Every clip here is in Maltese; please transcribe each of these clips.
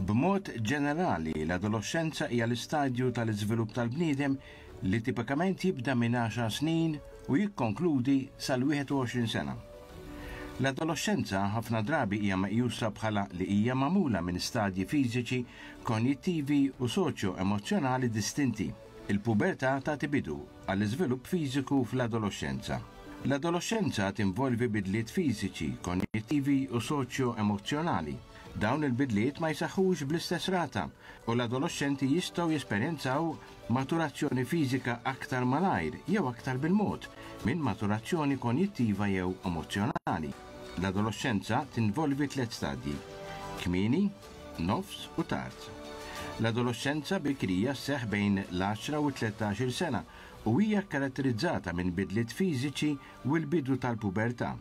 B'mod ġenerali, l-adoloxxenza hija l-istadju tal-iżvilupp tal-bniedem li tipikament jibda minn għaxar snin u jikkonkludi sal-21 sena. L-adoloxxenza ħafna drabi hija meqjusa bħala li hija magħmula minn stadji fiżiċi, konjittivi u soċjo-emozzjonali distinti. Il-pubertà tagħti bidu għall-iżvilupp fiżiku fl-adoloxxenza. L-adoloxxenza tinvolvi bidliet fiżiċi, konjittivi u soċjo-emozzjonali. Dawn il-bidliet ma jseħħux bl-istess rata u l-adoloxxenti jistgħu jesperjenzaw maturazzjoni fiżika aktar malajr jew aktar bil-mod minn maturazzjoni konjittiva jew emozzjonali. L-adoloxxenza tinvolvi tlett stadji, kmieni, nofs u tard. L-adoloxxenza bikrija sseħħ bejn l-għaxra u t-tlettax-il sena u hija kkaratterizzata minn bidliet fiżiċi u l-bidu tal-pubertà.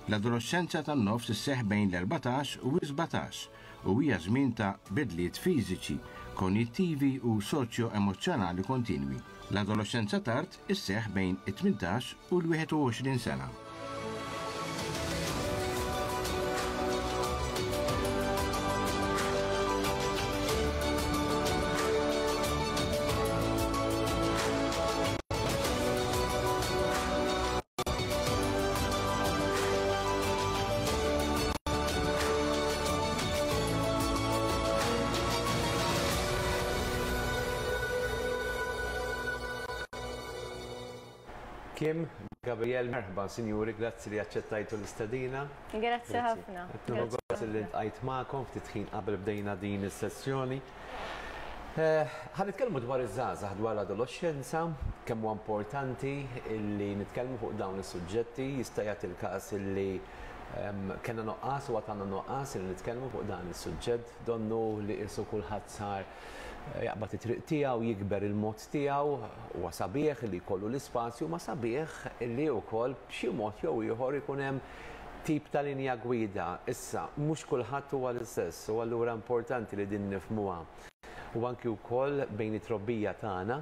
L-adoloxxenza tan-nofs isseħħ bejn l-erbatax u s-sbatax u hija żmien ta' bidliet fiżiċi, konjittivi u soċjo-emozzjonali kontinwi. L-adoloxxenza tard isseħħ bejn it-tmintax u l-21 sena. Kim, Gabriel, merħba, sinjuri, grazzi li aċċettajtu l-istedina. Grazzi ħafna. Grazzi li ltqajt magħkom ftit ħin qabel bdejna din is-sessjoni. Ħa nitkellmu dwar iż-żgħażagħ, dwar l-adoloxxenza, kemm huwa importanti li nitkellmu fuq dawn is-suġġetti. Jista' jagħti l-każ li kellna nuqqas u għad għandna nuqqas li nitkellmu fuq dan is-suġġett. Donnu li qisu kulħadd sar jaqbad it-triq tiegħu, jikber il-mod tiegħu. Huwa sabiħ li jkollu l-ispazju, ma sabiħ li wkoll b'xi mod jew ieħor ikun hemm tip ta' linja gwida. Issa, mhux kulħadd huwa l-istess u allura importanti li din nifhmuha. U anki wkoll bejn it-trobbija tagħna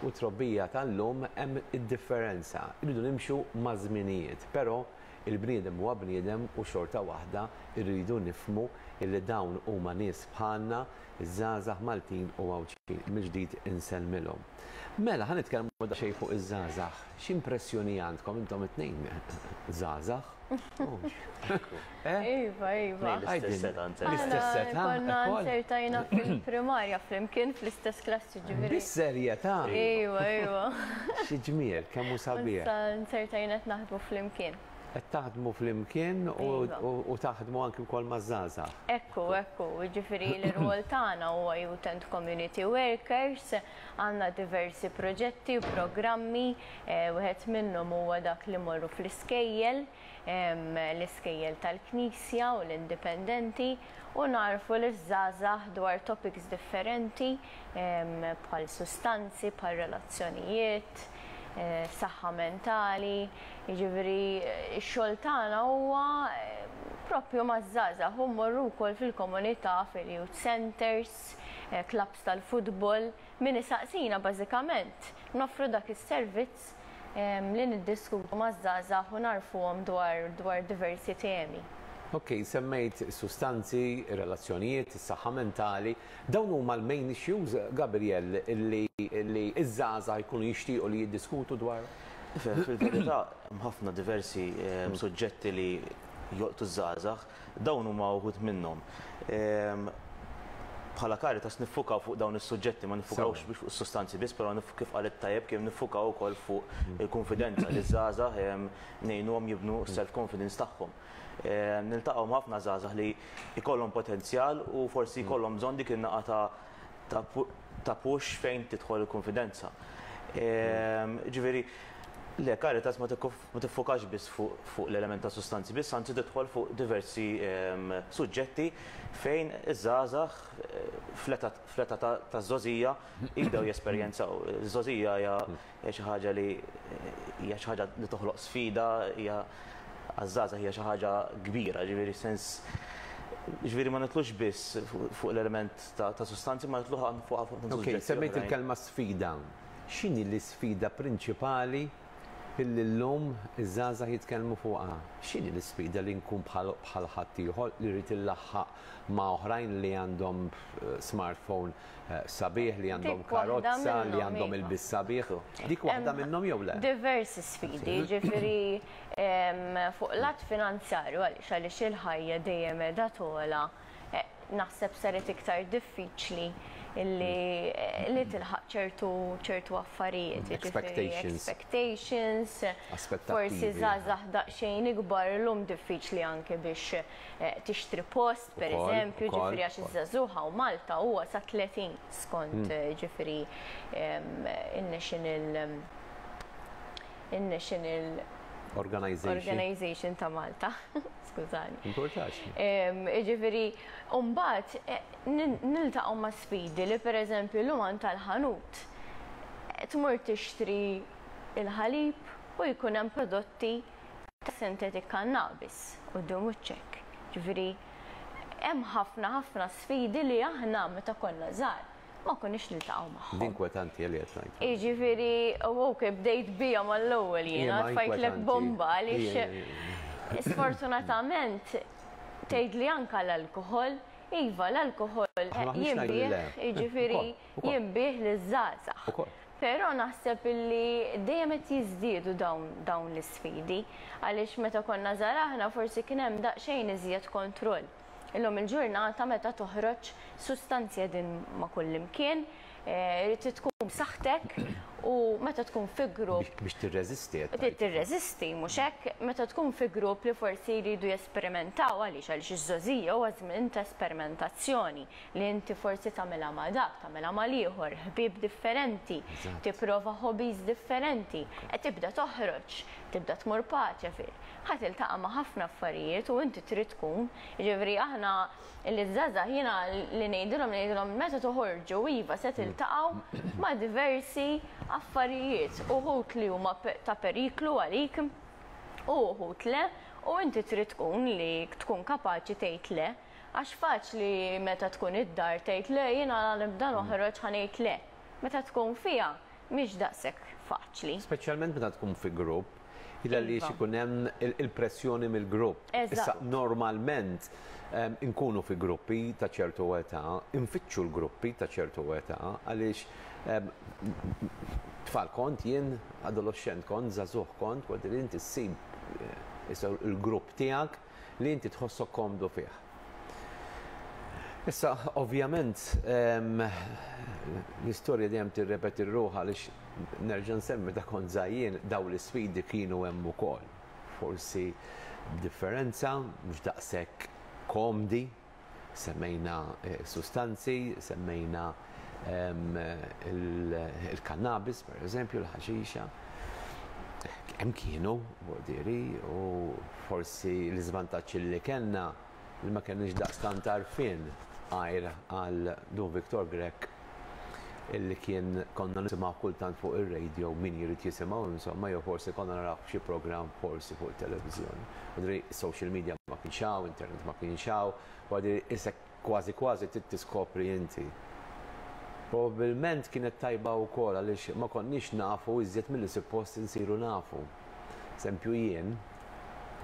u t-trobbija tal-lum hemm id-differenza. Irridu nimxu maż-żminijiet, però il-bniedem huwa bniedem u xorta waħda rridu nifhmu illi dawn huma nies bħalna, iż-żgħażagħ Maltin u Għawdxin. Mill-ġdid insellmilhom. Mela, ħa nitkellmu daqsxejn fuq iż-żgħażagħ. X'impressjoni għandkom intom it-tnejn żgħażagħ? Iva, iva. L-istess età. L-istess età. Konna nzertajna fil-primarja flimkien fl-istess klassi ġifieri. Bis-serjetà? Iva, iva. Xi ġmiel, kemm hu sabiħ. Issa nzertajna qed naħdmu flimkien. Qed taħdmu flimkien u taħdmu anki wkoll maż-żgħażagħ. Ekku, ekku, jiġifieri l-irwol tagħna huwa Youth and Community Workers, għandna diversi proġetti u programmi, wieħed minnhom huwa dak li mmorru fl-iskejjel, l-iskejjel tal-Knisja u l-indipendenti u nagħrfu liż-żgħażagħ dwar topics differenti bħal sustanzi, bħal relazzjonijiet, saħħa mentali, jiġifieri x-xogħol tagħna huwa proprju maż-żgħażagħ u mmorru wkoll fil-komunità, fil-youth centres, clubs tal-futbol, min isaqsina bażikament noffru dak is-servizz li niddiskutu maż-żgħażagħ u nagħrfuhom dwar dwar diversi temi. Ok, semmejt is-sustanzi, ir-relazzjonijiet, is-saħħa mentali. Dawn huma l-main issues, Gabriel, li li ż-żgħażagħ jkunu jixtiequ li jiddiskutu dwarhom? Ifhem, fil-verità hemm ħafna diversi suġġetti li jolqtu ż-żgħażagħ. Dawn huma wħud minnhom. Bħala Caritas niffukaw fuq dawn is-suġġetti, ma niffukawx fuq is-sustanzi biss, però kif qalet tajjeb Kim niffukaw ukoll fuq il-kunfidenza li ż-żgħażagħ ngħinuhom jibnu s-self confidence tagħhom. Niltaqgħu ma' ħafna żgħażagħ li jkollhom potenzjal u forsi jkollhom bżonn dik in-naqa ta' ta' push fejn tidħol il-kunfidenza. Ġifieri, le Caritas ma ma tiffokax biss fuq l-element ta' sustanzi biss, anzi tidħol fuq diversi suġġetti fejn iż-żgħażagħ fl-età taż-żgħożija jibdew jesperjenzaw. Iż-żgħożija hija xi ħaġa li hija xi ħaġa li toħloq sfida, hija għaż-żgħażagħ hija xi ħaġa kbira, ġifieri sens ġifieri ma nidħlux biss fuq l-element ta' sustanzi, ma nidħlu fuq ħafna suġġetti. Semmejt il-kelma sfida. X'inhi l-isfida prinċipali? illi llum iż-żgħażagħ jitkellmu fuqha. X'inhi l-isfida li nkun bħal bħal ħaddieħor li rrid illaħħaq ma' oħrajn li għandhom smartphone sabiħ, li għandhom Dik waħda karozza, li minnhom, għandhom iva. ilbies sabiħ. Dik waħda minnhom jew le? Diversi sfidi, ġifieri fuq lat finanzjarju għaliex għaliex il-ħajja dejjem qiegħda togħla, naħseb saret iktar diffiċli li li tilħaq ċertu ċertu affarijiet, jiġifieri Expectations. expectations, forsi Aspettattivi. żgħażagħ daqsxejn ikbar illum diffiċli anke biex tixtri post, per Ukoll, eżempju, ukoll, ġifieri għax ukoll. iż-żagħżugħ hawn Malta huwa sa 30 skont ġifieri in-National in-National Organization. Organization ta' Malta. Skużani. Importax. Ġifieri, mbagħad niltaqgħu ma' sfidi li pereżempju llum għand tal-ħanut tmur tixtri il-ħalib u jkun hemm prodotti ta' synthetic cannabis quddiem wiċċek. Ġifieri, hemm ħafna ħafna sfidi li aħna meta konna żgħar ma konniex niltaqgħu magħhom. Din kwetanti li qed ngħid. Jiġifieri, u ok, bdejt bija mal-ewwel jiena, Ija, ma tfajtlek inkwetanti. bomba għaliex Ija, ija, sfortunatament tgħid li anka l-alkohol, iva l-alkohol Aħna maħniex ngħidu li jinbiegħ, le. jiġifieri Ukoll, ukoll. jinbiegħ liż-żgħażagħ. Ukoll. Però naħseb illi dejjem qed jiżdiedu dawn dawn l-isfidi għaliex meta konna żgħar aħna forsi kien hemm daqsxejn iżjed kontroll. Illum il-ġurnata meta toħroġ sustanzi qegħdin ma' kullimkien, irid tkun b'saħħtek u meta tkun fi grupp Biex tirreżisti qed Trid tgħid. tirreżisti, mhux hekk, meta tkun fi grupp li forsi jridu jesperimentaw għaliex għaliex iż-żgħożija huwa żmien ta' esperimentazzjoni li inti forsi tagħmilha ma' dak, tagħmilha mal-ieħor, ħbieb differenti, Eżatt. tipprova hobbies differenti, qed tibda toħroġ, tibda tmur paċe fil. Ħa tiltaqa' ma' ħafna affarijiet u inti trid tkun, jiġifieri aħna li żgħażagħ jiena li ngħidilhom ngħidilhom meta toħorġu iva se tiltaqgħu ma' diversi affarijiet, uħud li huma ta' periklu għalik u uħud le, u inti trid tkun li tkun kapaċi tgħid le, għax faċli meta tkun id-dar tgħid le jiena nibda noħroġ ħa ngħid le. Meta tkun fiha mhix daqshekk faċli. Speċjalment meta tkun fi grupp, illa li Iva. ikun hemm il-pressjoni mill-grupp. Issa Eżatt. normalment inkunu fi gruppi ta' ċertu età, infittxu l-gruppi ta' ċertu età, għaliex tfal kont jien, adolescent kont, żagħżugħ kont, għad li inti ssib issa il-grupp tiegħek li inti tħossok komdu fih. Issa, ovvjament, l-istorja dejjem tirrepeti ruħha għaliex nerġa' nsemmi ta' kont żgħir daw l-isfidi kienu hemm ukoll. Forsi b'differenza, mhux daqshekk komdi, semmejna sustanzi, semmejna il-cannabis, per eżempju, l-ħaxixa. Hemm kienu, diri, u forsi l-iżvantaġġ li kellna li ma kenniex daqstant għarfien għajr għal Dun Victor Grech illi kien konna nisimgħu kultant fuq ir-radio min jrid jisimgħu insomma jew forsi konna naraw xi programm forsi fuq it-televiżjoni. Għadri social media ma kienx hawn, internet ma kienx hawn, u għadri isek kważi kważi trid tiskopri inti. Probabilment kienet tajba wkoll għaliex ma konniex nafu iżjed milli suppost insiru nafu. Eżempju jien,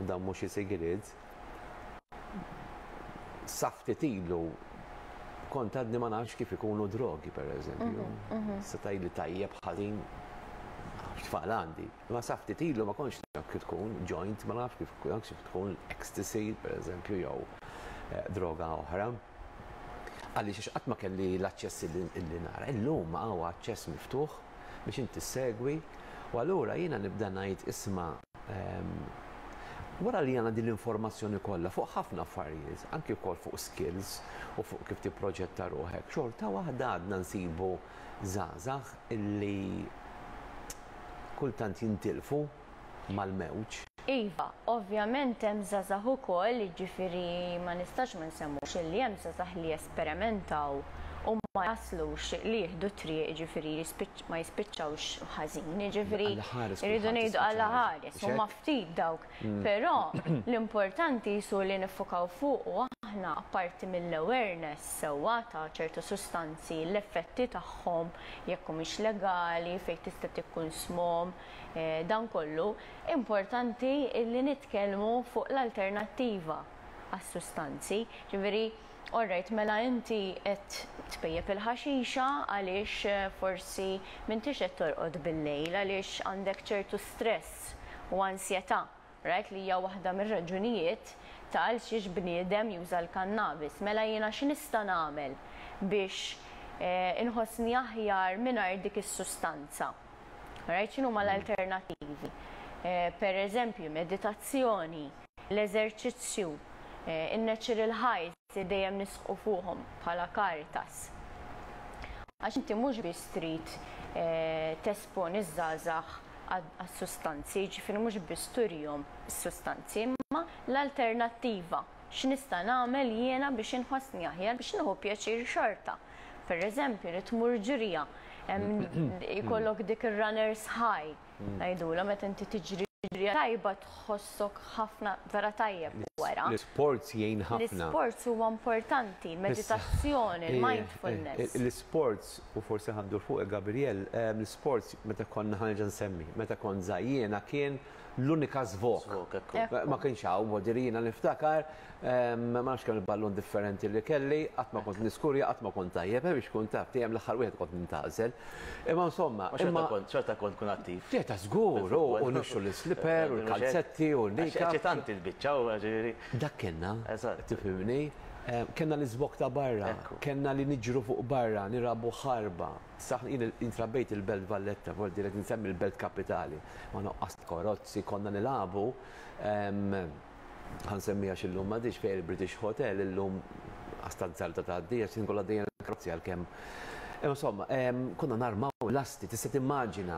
u dan mhux xi sigriet, sa ftit ilu kont għadni ma nafx kif ikunu drogi, per eżempju. Se tgħidli tajjeb ħażin, nafx tfal għandi. Ma sa ftit ilu ma kontx naf kif tkun joint, ma nafx kif kif tkun ecstasy, per eżempju, jew droga oħra. Għaliex għax qatt ma kelli l-aċċess illi nara. Illum hawn aċċess miftuħ biex inti segwi u allura jiena nibda ngħid isma' wara li għandna din l-informazzjoni kollha fuq ħafna affarijiet, anki wkoll fuq skills u fuq kif tipproġetta ruħek, xorta waħda għadna nsibu żgħażagħ illi kultant jintilfu mal-mewġ. Iva, ovvjament hemm żgħażagħ ukoll, jiġifieri ma nistax ma nsemmux illi hemm żgħażagħ li jesperimentaw u ma jaslux li jieħdu triq, jiġifieri ma jispiċċawx ħażin, jiġifieri Alla ħares irridu kulħadd ngħidu jispiċċa alla ħażin. ħares, huma Mhux hekk? ftit dawk. Però l-importanti jisu li niffukaw fuq u aħna. Aħna apparti mill-awareness sewwa ta' ċertu sustanzi, l-effetti tagħhom, jekk humiex legali, fejn tista' tikkunsmhom, dan kollu, importanti li nitkellmu fuq l-alternattiva għas-sustanzi. Ġifieri, all right, mela inti qed tpejjep il-ħaxixa għaliex forsi m'intix qed torqod bil-lejl, għaliex għandek ċertu stress u ansjetà. Right, li hija waħda mir-raġunijiet ta' għalxiex bniedem juża l-kannabis. Mela jiena x'nista' nagħmel biex inħossni aħjar mingħajr dik is-sustanza? Right, x'inhuma l-alternattivi? Per eżempju, meditazzjoni, l-eżerċizzju, in-natural highs li dejjem nisħqu fuqhom bħala Caritas. Għax inti mhux biss trid tesponi ż-żgħażagħ għas-sustanzi, jiġifieri mhux biss turihom is-sustanzi, imma l-alternattiva, x'nista' nagħmel jiena biex inħossni aħjar biex nieħu pjaċir xorta. Pereżempju, li tmur ġirja, jkollok dik ir-runner's high, ngħidulha meta inti tiġri ġirja tajba tħossok ħafna vera tajjeb wara. L-isports jgħin ħafna. L-isports huwa importanti, il-meditazzjoni, il-mindfulness. L-isports, u forsi ħa ndur fuqek Gabriel, l-isports meta konna ħa nerġa' nsemmi, meta kont żgħir jiena kien l-unika żvog. Ma kienx hawn, vuol jiena niftakar, ma nafx kemm il-ballun differenti li kelli, qatt ma kont niskurja, qatt ma kont tajjeb, biex kun taf, dejjem l-aħħar wieħed kont nintgħażel. Imma insomma. Imma xorta kont tkun attiv. Ġeta żgur, u nixtru l-slipper, u l-kalzetti, u l-nika. Eċitanti l-biċċa, u ġifieri. Dak kellna, tifhimni. Kellna l-iżvog ta' barra, kellna li niġru fuq barra, nilagħbu ħarba. Saħ jien intrabbejt il-Belt Valletta, vuol dire nsemmi l-Belt Kapitali. Ma noqqas karozzi, konna nilagħbu. Ħa nsemmiha x'illum m'għadix fejn il-British Hotel, illum għasta żalta ta' għaddija, x'in kollha dejjem karozzi għalkemm. Insomma, konna narmaw lasti, tista' timmaġina.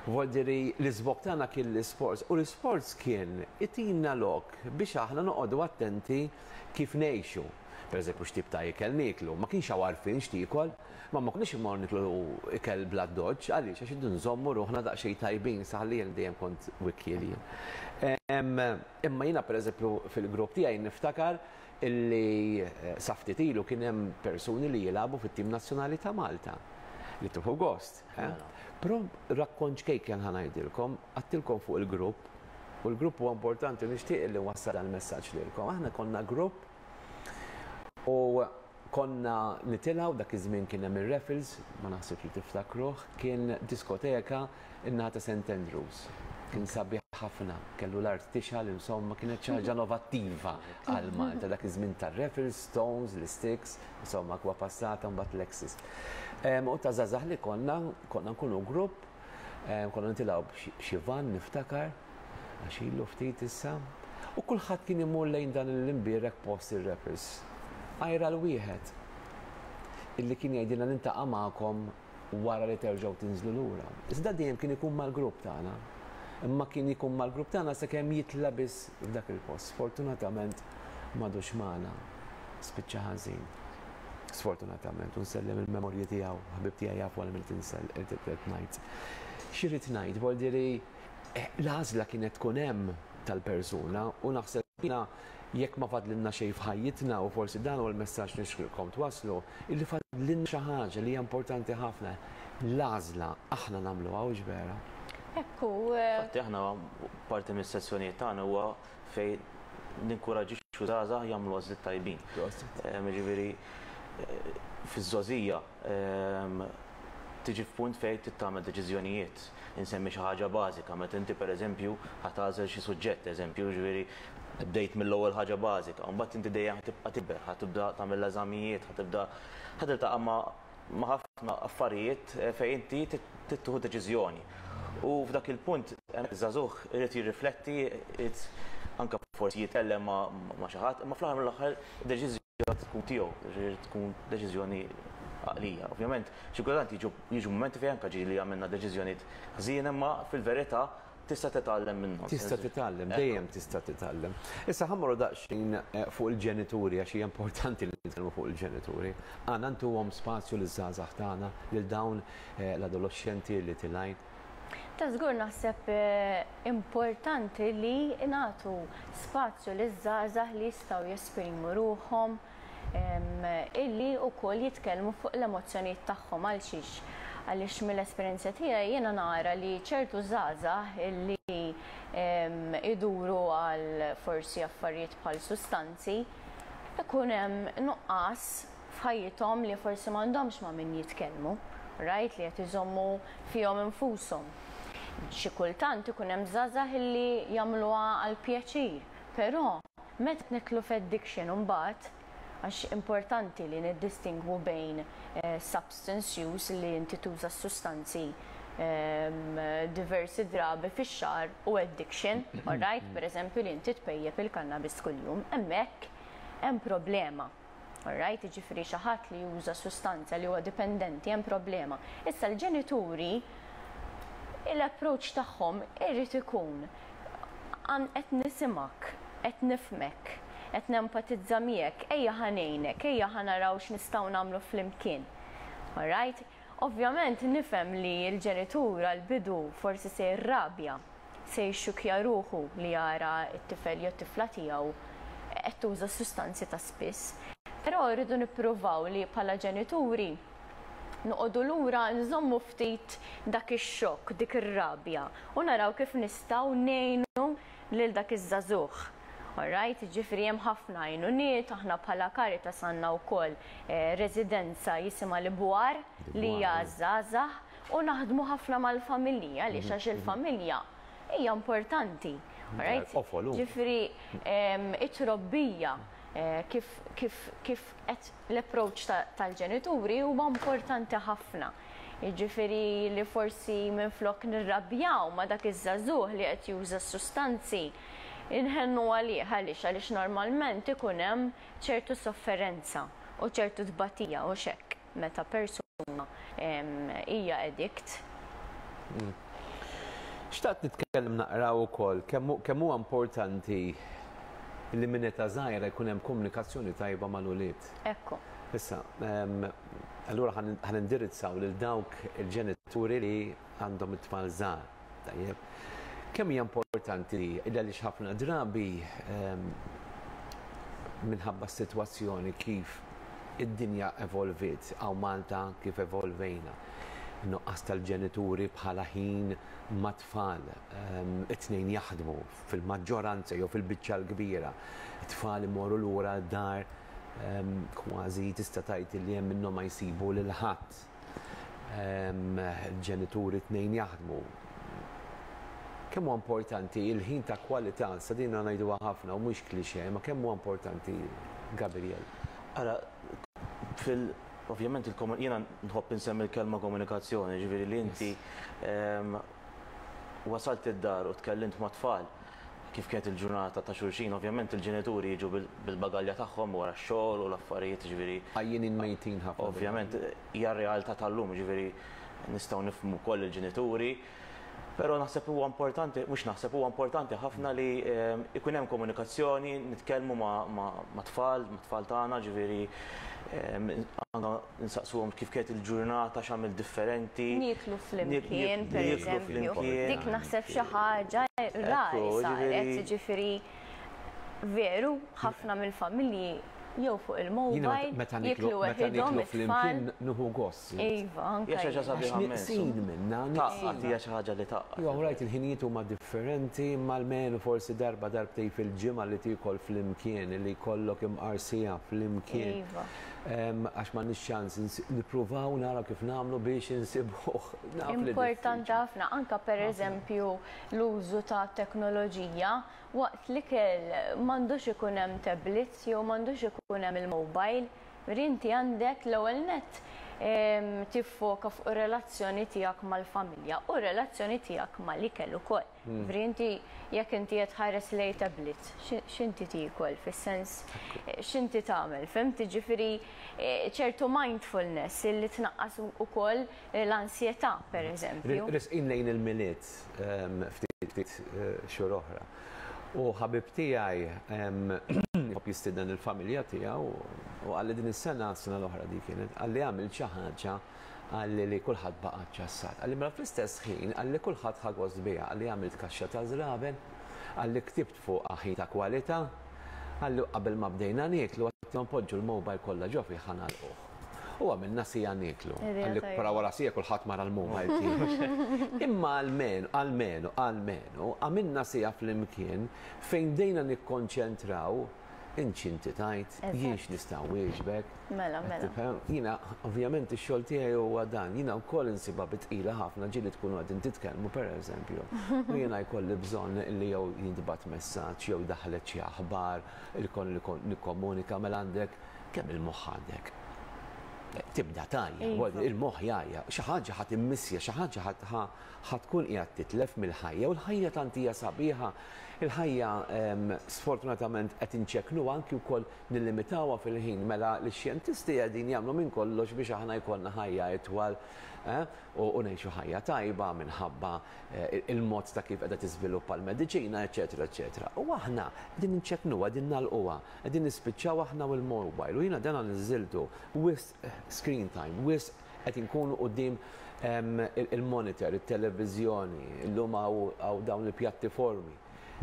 Vuol dire l-iżvog tagħna kien l-isports u l-isports kien itina lok biex aħna noqogħdu attenti kif ngħixu. Per eżempju, x'tip ta' ikel nieklu, ma kienx hawn għarfien x'tiekol, ma ma konniex immorru niklu ikel bla doġġ, għaliex għax irridu nżommu ruħna daqsxejn tajbin, saħli jien dejjem kont wikkiel jien. Imma jiena pereżempju fil-grupp tiegħi niftakar illi sa ftit ilu kien hemm persuni li jilagħbu fit-tim nazzjonali ta' Malta li tieħu gost. Però rakkont ċkejken ħa ngħidilkom, għedtilkom fuq il-grupp, u l-grupp huwa importanti nixtieq li nwassal dan il-messaġġ lilkom. Aħna konna grupp u konna nitilgħu dak iż-żmien kien hemm ir-Raffles, ma naħsibx li tiftakruh, kien diskoteka in-naħa ta' St. Andrews. Kien sabiħ ħafna, kellu l-art tixgħel, insomma, kienet xi ħaġa innovattiva għal Malta dak iż-żmien tar-Raffles, Stones, l-Sticks, insomma, kwa passata mbagħad Lexis. U ta' żgħażagħ li konna, konna nkunu grupp, konna nitilgħu b'xi van niftakar, għax ilu ftit issa, u kulħadd kien imur lejn dan l-imbierek post ir-Raffles. Għajra l-wieħed illi kien jgħidilna niltaqa' magħkom wara li terġgħu tinżlu lura. Iżda dejjem kien ikun mal-grupp tagħna. Imma kien ikun mal-grupp tagħna sakemm jitla' biss f'dak il-post. Sfortunatament m'għadux magħna. Spiċċa ħażin. Sfortunatament, u nsellem il-memorji tiegħu, ħabib tiegħi jafu għal min qed ngħid. X'irrid ngħid, vuol dire l-għażla kienet tkun hemm tal-persuna u naħseb jiena jekk ma fadlilna xejn f'ħajjitna u forsi dan huwa l-messaġġ nixtieqkom twasslu, illi fadlilna xi ħaġa li hija importanti ħafna. L-għażla aħna nagħmluha hux vera? Ekku. Infatti aħna parti mis-sessjonijiet tagħna huwa fejn ninkuraġixxu żgħażagħ jagħmlu għażliet tajbin. Ġifieri fiż-żgħożija tiġi f'punt fejn trid tagħmel deċiżjonijiet. Insemmi xi ħaġa bażika, meta inti pereżempju ħa tagħżel xi suġġett, eżempju, ġifieri bdejt mill-ewwel ħaġa bażika, u mbagħad inti dejjem tibqa' tikber, ħa tibda tagħmel l-eżamijiet, ħa tibda ħa tiltaqa' ma' ħafna affarijiet fejn inti trid tieħu deċiżjoni. U f'dak il-punt iż-żagħżugħ irid jirrifletti, irid anke forsi jitkellem ma' xi ħadd, imma fl-aħħar mill-aħħar id-deċiżjoni tkun tiegħu, ġifieri tkun deċiżjoni għaqlija. Ovvjament, xi kultant jiġu mumenti fejn anke ġieli għamilna deċiżjonijiet ħżiena, imma fil-verità tista' titgħallem minnhom. Tista' titgħallem, dejjem tista' titgħallem. Issa ħa mmorru daqsxejn fuq il-ġenituri għax hija importanti li nitkellmu fuq il-ġenituri. Għandna ntuhom spazju liż-żgħażagħ tagħna, lil dawn l-adolexxenti li tilgħin. Ta' żgur naħseb importanti li nagħtu spazju liż-żgħażagħ li jistgħu jesprimu ruħhom, illi wkoll jitkellmu fuq l-emozzjonijiet tagħhom. Għal xiex? Għaliex mill-esperjenza tiegħi jiena nara li ċertu żgħażagħ illi iduru għal forsi affarijiet bħal sustanzi, ikun hemm nuqqas f'ħajjithom li forsi m'għandhomx ma' min jitkellmu, right, li qed iżommu fihom infushom. Xi kultant ikun hemm żgħażagħ illi jagħmluha għall-pjaċir, però meta nidħlu f'addiction imbagħad, għax importanti li niddistingwu bejn substance use li inti tuża s-sustanzi diversi drabi fix-xahar u addiction, all right, pereżempju li inti tpejjep il-cannabis kuljum, hemmhekk hemm problema. All right, jiġifieri xi ħadd li juża sustanza li huwa dipendenti hemm problema. Issa l-ġenituri l-approach tagħhom irid ikun qed nisimgħek, qed nifhmek, qed nempatizza miegħek, ejja ħa ngħinek, ejja ħa naraw x'nistgħu nagħmlu flimkien. All right? Ovvjament nifhem li l-ġenitur għall-bidu forsi se jirrabja, se jixxukkja ruħu li jara t-tifel jew t-tifla tiegħu qed tuża s-sustanzi ta' spiss. Però rridu nippruvaw li bħala ġenituri noqogħdu lura nżommu ftit dak ix-xokk, dik ir-rabja u naraw kif nistgħu ngħinu lil dak iż-żagħżugħ. Alright, jiġifieri hemm ħafna għajnuniet, aħna bħala Caritas għandna wkoll residenza jisimha l-Ibwar li hija għaż-żgħażagħ u naħdmu ħafna mal-familji għaliex għax il-familja hija importanti. Alright? Ġifieri it-trobbija kif kif kif qed l-approach tal-ġenituri huwa importanti ħafna. Jiġifieri li forsi minflok nirrabjaw ma' dak iż-żagħżugħ li qed juża s-sustanzi, inħennu għalih. Għaliex? Għaliex normalment ikun hemm ċertu sofferenza u ċertu tbatija, hux hekk, meta persuna hija addict. Xtaqt nitkellem naqra wkoll kemm huwa importanti li minn età żgħira jkun hemm komunikazzjoni tajba mal-ulied. Ekku. Issa, allura ħa nindirizzaw lil dawk il-ġenituri li għandhom it-tfal żgħar. Tajjeb. Kemm hija importanti li għaliex ħafna drabi minħabba s-sitwazzjoni kif id-dinja evolviet, hawn Malta kif evolvejna. Nuqqas tal-ġenituri bħala ħin mat-tfal, it-tnejn jaħdmu fil-maġġoranza jew fil-biċċa l-kbira. It-tfal imorru lura d-dar kważi tista' tgħid li hemm minnhom ma jsibu lil ħadd. Ġenituri tnejn jaħdmu. Kemm huwa importanti il-ħin ta' kwalità, sa din ngħiduha ħafna u mhux cliché, ma kemm huwa importanti, Gabriel? Ara, fil ovvjament jiena nħobb insemmi l-kelma komunikazzjoni, ġifieri li inti wasalt id-dar u tkellimt ma' tfal kif kienet il-ġurnata ta' xulxin, ovvjament il-ġenituri jiġu bil-bagalja tagħhom wara x-xogħol u l-affarijiet, ġifieri. Għajjinin mejtin ħafna. Ovvjament hija r-realtà tal-lum, ġifieri nistgħu nifhmu wkoll il-ġenituri. Però naħseb huwa importanti, mhux naħseb huwa importanti ħafna li ikun hemm komunikazzjoni, nitkellmu ma' tfal, ma' tfal tagħna, ġifieri anke nsaqsuhom kif kienet il-ġurnata, x'għamilt differenti. Nieklu flimkien, pereżempju. Dik naħseb xi ħaġa rari saret, jiġifieri veru ħafna mill-familji jew fuq il-mobile, jieklu weħidhom it-tfal. Nieħu gost. Iva, anke. Hija xi ħaġa sabiħa immens. Neqsin minnha. Tgħaqqad, hija xi ħaġa li tgħaqqad. Iva, rajt il-ħinijiet huma differenti, imma almenu forsi darba darbtejn fil-ġimgħa li tiekol flimkien, li jkollok imqar siegħa flimkien. Iva. Għax m'għandniex ċans nippruvaw naraw kif nagħmlu biex insibuh. Importanti ħafna, anke pereżempju l-użu ta' teknoloġija waqt l-ikel m'għandux ikun hemm tablets jew m'għandux ikun hemm il-mobile. Jiġifieri inti għandek l-ewwel nett tiffoka fuq ir-relazzjoni tiegħek mal-familja u r-relazzjoni tiegħek mal-ikel ukoll. Jiġifieri inti jekk inti qed tħares lejn tablet, x'inti tiekol fis-sens x'inti tagħmel, fhimt? Jiġifieri ċertu mindfulness illi tnaqqas ukoll l-ansjetà pereżempju. Resqin lejn il-Milied ftit ftit xhur oħra. U ħabib tiegħi jħobb jistieden il-familja tiegħu u qalli din is-sena, s-sena l-oħra dik kienet, qalli għamilt xi ħaġa Qalli li kulħadd baqa' ċċassat. Qalli mela fl-istess ħin qalli kulħadd ħa gost biha. Qalli għamilt kaxxa ta' żraben, qalli ktibt fuqha ħin ta' kwalità, qalli u qabel ma bdejna nieklu għedtilhom poġġu l-mobile kollha ġo fih ħa nagħlquh. U għamilna siegħa nieklu. Qalli però wara siegħa kulħadd mar għall-mobile tiegħu. Imma almenu, almenu, almenu għamilna siegħa flimkien fejn bdejna nikkonċentraw Int x'inti tgħid, jien x'nista' nwieġbek. Mela, mela. Tifhem? Jiena, ovvjament ix-xogħol tiegħi huwa dan, jiena wkoll insibha bi tqila ħafna ġieli tkunu qegħdin titkellmu pereżempju, u jiena jkolli bżonn li jew jintbagħat messaġġ jew daħlet xi aħbar, ikolli nikkomunika, mela għandek kemm il-moħħ għandek? Tibda tgħajja, il-moħħ jgħajja, xi ħaġa ħa timmissja, xi ħaġa ħa tkun qiegħed titlef mill-ħajja u l-ħajja tant hija sabiħa. Il-ħajja sfortunatament qed inċekknuha anki wkoll nillimitawha fil-ħin mela l-xjentisti qegħdin jagħmlu minn kollox biex aħna jkollna ħajja itwal u ngħixu ħajja tajba minħabba il-mod ta' kif qiegħda tiżviluppa l-mediċina eċċetera eċċetera. U aħna qegħdin inċekknuha, qegħdin nagħlquha, qegħdin nispiċċaw aħna u l-mobile u jiena dan niżżiltu wisq screen time, wisq qed inkunu quddiem il-monitor, it-televiżjoni, illum hawn dawn il-pjattiformi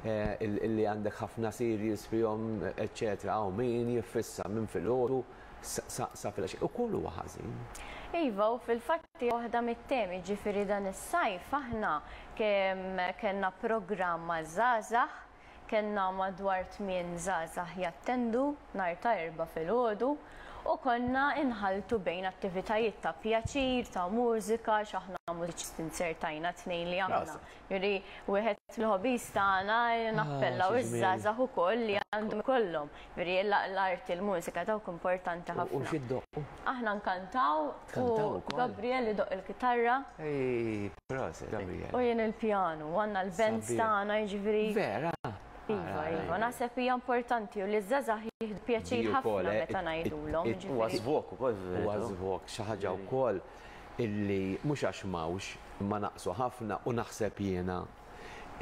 illi għandek ħafna series fihom, eċċetera, hawn min jiffissa minn filgħodu sa filgħaxija. Ukoll huwa ħażin. Iva, u fil-fatt hija waħda mit-temi, ġifieri dan is-sajf aħna kemm kellna programm għaż-żgħażagħ Kellna madwar tmien żgħażagħ jattendu nhar ta' Erbgħa filgħodu u konna inħalltu bejn attivitajiet ta' pjaċir, ta' mużika, għax aħna mużiċisti nzertajna tnejn li aħna. Jiġifieri wieħed mill-hobbies tagħna nappellaw iż-żgħażagħ ukoll li għandhom ikollhom. Jiġifieri l-arti, l-mużika dawk importanti ħafna. U xi ddoqqu? Aħna nkantaw u Gabriel idoqq il-kitarra. Proset, Gabriel. U jien il-pjanu, għandna l-bands tagħna, jiġifieri. Vera? Iva, iva, naħseb hija importanti u li ż-żgħażagħ jieħdu pjaċir ħafna meta ngħidulhom. Huwa żvok ukoll. Huwa żvok, xi ħaġa wkoll illi mhux għax m'hawnx, imma naqsu ħafna u naħseb jiena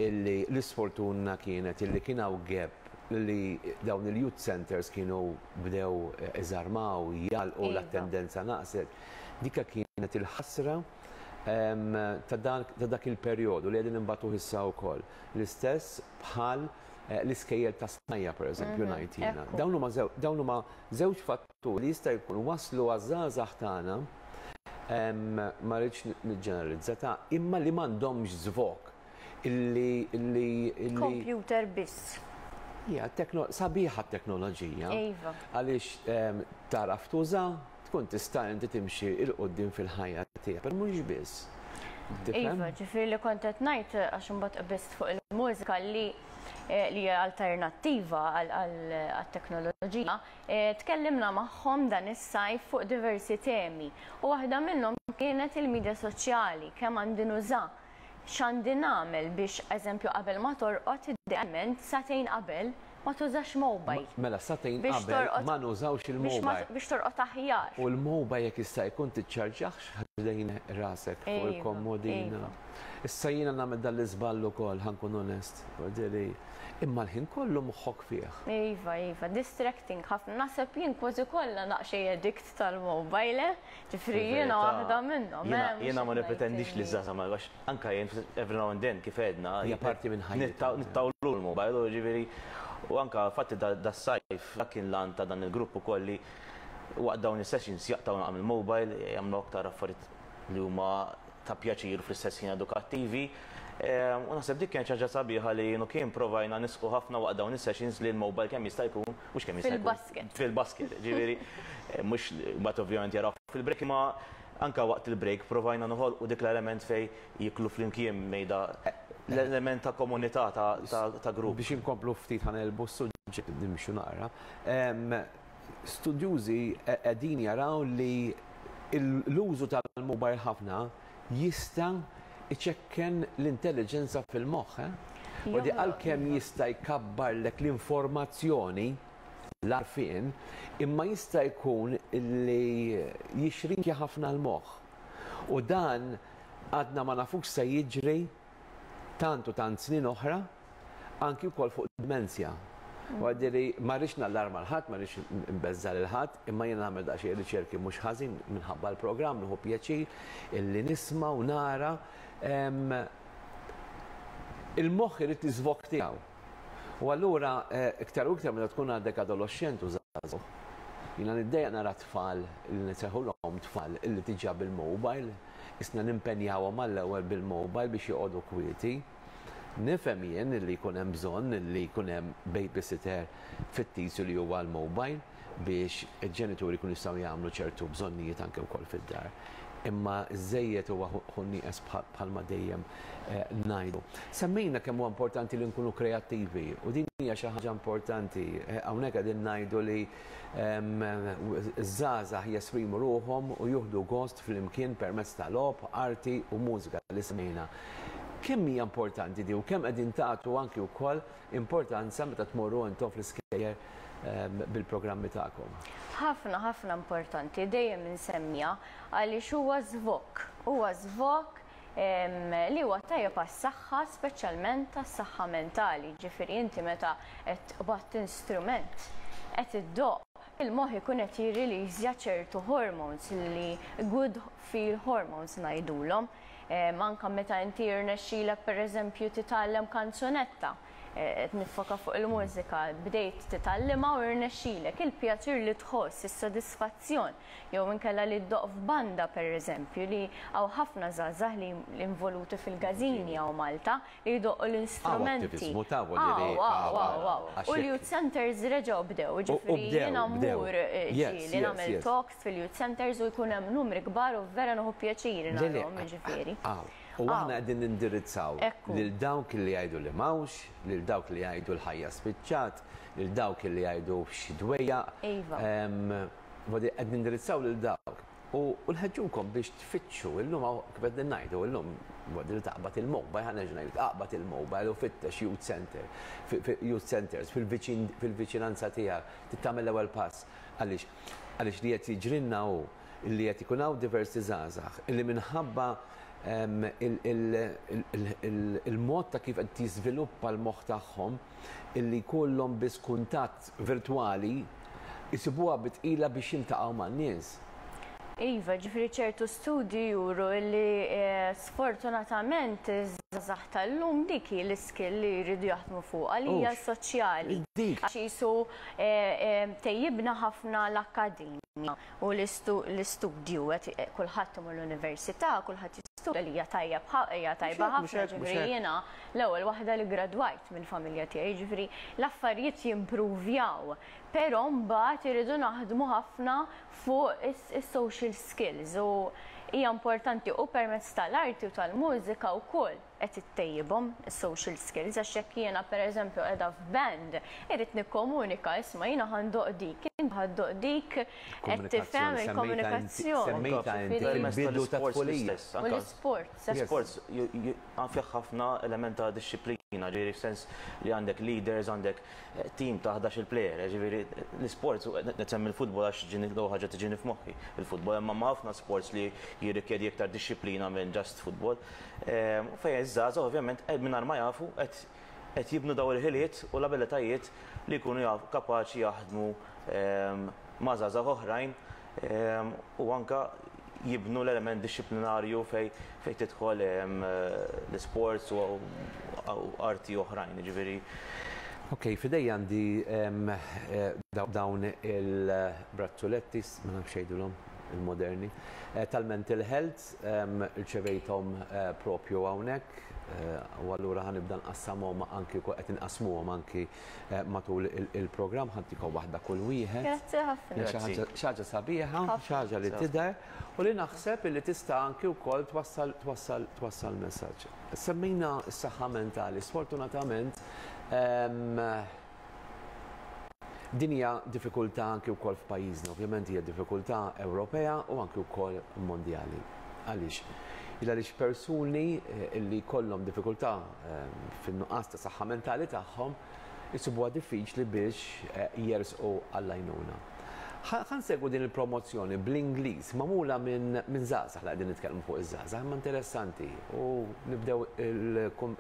illi l-isfortuna kienet illi kien hawn gap li dawn il-youth centres kienu bdew iżarmaw, jagħlqu, l-attendenza naqset. Dika kienet il-ħasra ta' dak il-perjodu li qegħdin inbatuh issa wkoll. L-istess bħal l-iskejjel ta' snajja' pereżempju ngħid jiena. Dawn huma dawn huma żewġ fatturi li jista' jkun wasslu għaż-żgħażagħ tagħna, ma rridx niġġeneralizza ta' imma li m'għandhomx żvog illi illi illi Computer biss. Hija sabiħa t-teknoloġija. Iva. Għaliex tagħraf tuża, tkun tista' inti timxi 'l quddiem fil-ħajja tiegħek, però mhux biss. Tifhem? Iva, ġifieri li kont qed ngħid għax imbagħad qbiżt fuq il-mużika li li hija alternattiva għat-teknoloġija, tkellimna magħhom dan is-sajf fuq diversi temi u waħda minnhom kienet il-midja soċjali, kemm għandi nuża, x'għandi nagħmel biex eżempju qabel ma torqod idealment sagħtejn qabel ma tużax mobile. Mela sagħtejn qabel ma nużawx il-mobile. Biex torqod aħjar. U l-mobile jekk jista' jkun tiċċarġahx ħdejn rasek fuq il-komodina. Issa jiena nagħmel dan l-iżball ukoll, ħa nkun onest. Imma l-ħin kollu moħħok fih. Iva, iva, distracting ħafna. Naħseb jien kważi kollha naqxej addict tal-mobile, eh? Ġifieri jiena waħda minnhom. Jiena ma nippretendix li żgħażagħ ma għax anke jien every now and then kif għedna. Hija parti minn ħajjitna. Nittawlu l-mobile, ġifieri u anke fatti das-sajf dak kien l-għan ta' dan il-grupp ukoll li waqt dawn is-sessions jaqtgħu naqra mill-mobile, jagħmlu aktar affarijiet li huma ta' pjaċir u fl-istess ħin edukattivi. U naħseb dik kienet xi ħaġa sabiħa li jien u Kim provajna nisqu ħafna waqt dawn is-sessions li l-mobile kemm jista' jkun, mhux kemm jista' jkun. Fil-basket. Fil-basket, ġifieri mhux mbagħad ovvjament jaraw fil-break imma anke waqt il-break provajna noħolqu dik l-element fejn jieklu flimkien mejda l-element ta' komunità ta' grupp. Biex inkomplu ftit ħa negħlbu s-suġġett nimxu naqra. Studjużi qegħdin jaraw li l-użu tal-mobile ħafna jista' jċekken l-intelliġenza fil-moħħ, eh? U di għalkemm jista' jkabbarlek l-informazzjoni, l-għarfien, imma jista' jkun li jixrinkja ħafna l-moħħ. U dan għadna ma nafux se jiġri tant u tant snin oħra, anki wkoll fuq dimensja. U għaddiri, ma rridx nallarma 'l ħadd, ma rridx nbeżża' lil ħadd, imma jiena nagħmel daqsxejn riċerki mhux ħażin minħabba l-programm, nieħu pjaċir illi nisma' u nara. Il-moħħ irid l-iżvog tiegħu. U allura iktar u iktar meta tkun għadek adoloxxent u żagħżugħ, jiena niddejjaq nara tfal li nsejħulhom tfal illi diġà bil-mobile, isna nimpenjawhom għall-ewwel bil-mobile biex joqogħdu kwieti. Nifhem jien li jkun hemm bżonn li jkun hemm babysitter fittizju li huwa l-mobile biex il-ġenituri jkunu jistgħu jagħmlu ċertu bżonnijiet anke wkoll fid-dar. Imma żejjed huwa hu nieqes bħalma dejjem ngħidu. Semmejna kemm huwa importanti li nkunu kreattivi u din hija xi ħaġa importanti. Hawnhekk qegħdin ngħidu li Iż-żgħażagħ jesprimu ruħhom u jieħdu gost flimkien permezz ta' logħob, arti u mużika li semmejna. Kemm hija importanti di u kemm qegħdin tagħtu anki wkoll importanza meta tmorru intom fl-iskejjel bil-programmi tagħkom? Ħafna, ħafna importanti, dejjem insemmiha għaliex huwa żvog, huwa żvog li huwa tajjeb għas-saħħa, speċjalment għas-saħħa mentali. Ġifieri inti meta qed tqbad instrument qed iddoqq, il-moħħ ikun qed jirriliżja ċertu hormones li good feel hormones ngħidulhom. Anke meta inti jirnexxilek pereżempju titgħallem kanzunetta, qed niffoka fuq il-mużika, bdejt titgħallimha u rnexxilek, il-pjaċir li tħoss, is-sodisfazzjon, jew inkella li ddoqq f'banda pereżempju li hawn ħafna żgħażagħ li involuti fil-każini hawn Malta li jdoqqu l-instrumenti. Hawn attiviżmu ta' vuol dire. Hawn, hawn, hawn, hawn. U l-youth centers reġgħu bdew, jiġifieri jiena mmur ġieli nagħmel talks fil-youth centers u jkun hemm numri kbar u vera nieħu pjaċir narahom jiġifieri. U aħna qegħdin nindirizzaw lil dawk li jgħidu li m'hawnx, lil dawk li jgħidu l-ħajja spiċċat, lil dawk li jgħidu xi dwejjaq. Iva. Qed nindirizzaw lil dawk. U nħeġġukom biex tfittxu illum hawn kif qegħdin ngħidu illum li taqbad il-mobile, ħa nerġa' ngħidlek aqbad il-mobile u fittex youth center, youth centers fil-viċinanza tiegħek, trid tagħmel l-ewwel pass. Għaliex? Għaliex li qed jiġrilna hu li qed ikun hawn diversi żgħażagħ illi minħabba il-mod ta' kif qed jiżviluppa l-moħħ tagħhom illi jkollhom biss kuntatt virtwali jsibuha bi tqila biex jiltaqgħu man-nies. Iva, ġifieri ċertu studji juru li sfortunatament iż-żgħażagħ tal-lum dik hi l-iskill li jridu jaħdmu fuqha li hija soċjali. Għax qisu tejjibna ħafna l-akkademja u l-istudju, kulħadd imur l-università, kulħadd jistudja li hija tajjeb hija tajba ħafna, ġifieri jiena l-ewwel waħda li ggradwajt mill-familja tiegħi, jiġifieri l-affarijiet jimpruvjaw, però mbagħad irridu naħdmu ħafna fuq is-social skills u hija importanti u permezz tal-arti u tal-mużika wkoll qed ittejjibhom is-social skills għax jekk jiena pereżempju qiegħda f'band irrid nikkomunika isma' jiena ħa ndoqq dik, inti ħa ddoqq dik, qed tifhem il-komunikazzjoni. Semmejtha inti fil-bidu tat-tfulija. U l-isports. L-isports fih ħafna element ta' dixxiplina, ġifieri f'sens li għandek leaders, għandek Team ta' 11-il player, jiġifieri l-isports, qed nsemmi l-futbol għax ġieni l-ewwel ħaġa tiġini f'moħħi, il-futbol, imma hemm ħafna sports li jirrikjedi iktar dixxiplina minn just futbol. Fejn iż-żgħażagħ ovvjament mingħajr ma jafu qed jibnu dawn il-ħiliet u l-abilitajiet li jkunu kapaċi jaħdmu ma' żgħażagħ oħrajn u anke jibnu l-element dixxiplinarju fejn tidħol l-isports u arti oħrajn, jiġifieri. Ok, f'idejja għandi dawn il-brazzuletti, ma nafx x'jgħidulhom, il-moderni, tal-mental health, irċevejthom propju hawnhekk u allura ħa nibda nqassamhom anki qed inqassmuhom anki matul il-programm ħa ntikom waħda kull wieħed. Grazzi ħafna. Xi ħaġa sabiħa, xi ħaġa li tidher u li naħseb li tista' anki wkoll twassal twassal twassal messaġġ. Semmejna s-saħħa mentali, sfortunatament din hija diffikultà anki wkoll f'pajjiżna, ovvjament hija diffikultà Ewropea u anki wkoll mondjali. Għaliex? Il għaliex persuni li jkollhom diffikultà fin-nuqqas ta' saħħa mentali tagħhom isibuha diffiċli biex jersqu għall-għajnuna. Ħa nsegwu din il-promozzjoni bl-Ingliż magħmula minn żgħażagħ li qegħdin nitkellmu fuq iż-żgħażagħ imma interessanti u nibdew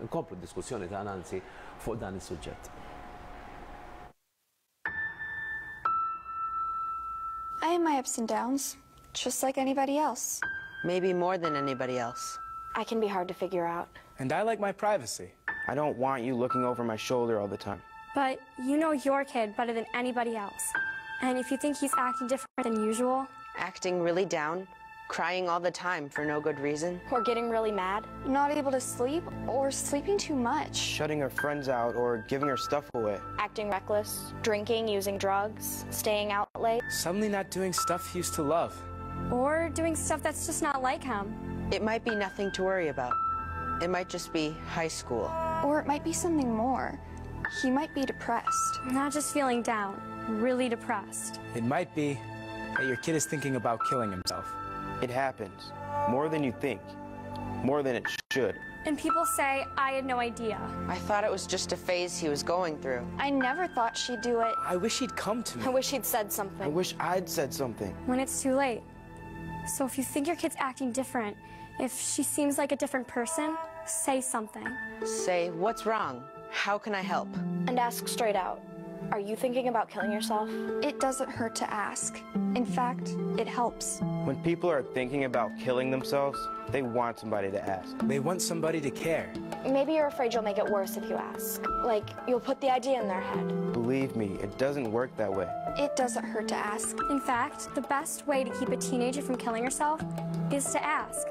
nkomplu d-diskussjoni tagħna anzi fuq dan is-suġġett. I have my ups and downs, just like anybody else. Maybe more than anybody else. I can be hard to figure out. And I like my privacy. I don't want you looking over my shoulder all the time. But you know your kid better than anybody else. And if you think he's acting different than usual, Acting really down, crying all the time for no good reason. Or getting really mad. Not able to sleep or sleeping too much. Shutting her friends out or giving her stuff away. Acting reckless, drinking, using drugs, staying out late. Suddenly not doing stuff he used to love. or doing stuff that's just not like him. It might be nothing to worry about. It might just be high school. Or it might be something more. He might be depressed. Not just feeling down, really depressed. It might be that your kid is thinking about killing himself. It happens. More than you think. More than it should. And people say, I had no idea. I thought it was just a phase he was going through. I never thought she'd do it. I wish he'd come to me. I wish he'd said something. I wish I'd said something. When it's too late. So if you think your kid's acting different, if she seems like a different person, say something. Say, what's wrong? How can I help? And ask straight out. Are you thinking about killing yourself? It doesn't hurt to ask. In fact, it helps. When people are thinking about killing themselves, they want somebody to ask. They want somebody to care. Maybe you're afraid you'll make it worse if you ask. Like, you'll put the idea in their head. Believe me, it doesn't work that way. It doesn't hurt to ask. In fact, the best way to keep a teenager from killing herself is to ask,